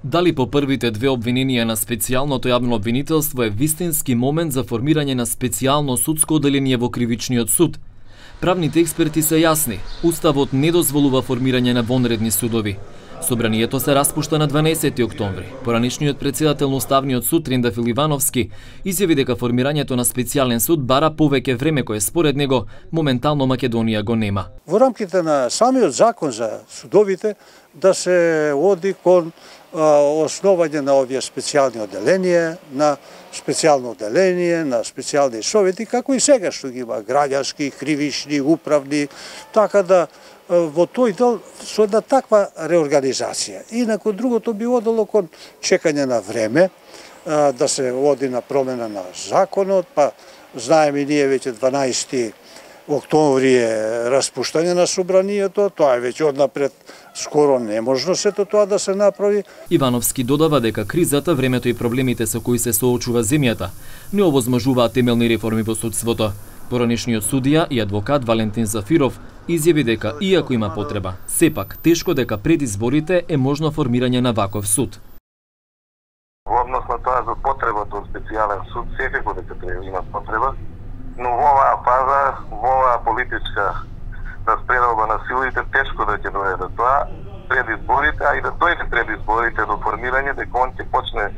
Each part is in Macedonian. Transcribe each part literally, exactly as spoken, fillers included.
Дали по првите две обвиненија на специјалното јавно обвинителство е вистински момент за формирање на специјално судско оделение во кривичниот суд? Правните експерти се јасни. Уставот не дозволува формирање на вонредни судови. Собранието се распушта на дванаесети октомври. Поранешниот претседател на Уставниот суд Трендафил Ивановски изјави дека формирањето на специјален суд бара повеќе време кое според него моментално Македонија го нема. Во рамките на самиот закон за судовите да се оди кон основање на овие специјални оделенија, на специјално оделение, на специјални совети, како и сега што ги има граѓански, кривични, управни, така да во тој дел со една таква реорганизација. Инаку другото би одело кон чекање на време, да се оди на промена на законот, па знаеме и ние веќе дванаесети октомври е распуштање на собранието, тоа е веќе однапред скоро неможно сето тоа да се направи. Ивановски додава дека кризата, времето и проблемите со кои се соочува земјата не овозможуваат темелни реформи во судството. Поранешниот судија и адвокат Валентин Зафиров изјави дека иако има потреба, сепак тешко дека пред изборите е можно формирање на ваков суд. Во однос на тоа за потребата од специјален суд, секако дека треба има потреба, но во оваа фаза, во оваа политичка распределба на силите, тешко да ќе доведе тоа пред изборите, а и да дојде пред изборите до формирање, дека он ќе почне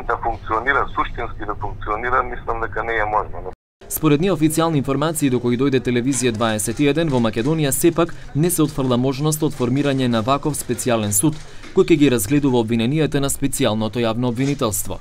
да функционира, суштински да функционира, мислам дека не е можно. Според неофицијални информации до кои дојде телевизија дваесет и еден, во Македонија сепак не се отфрла можност од формирање на ваков специјален суд, кој ќе ги разгледува обвиненијата на специјалното јавно обвинителство.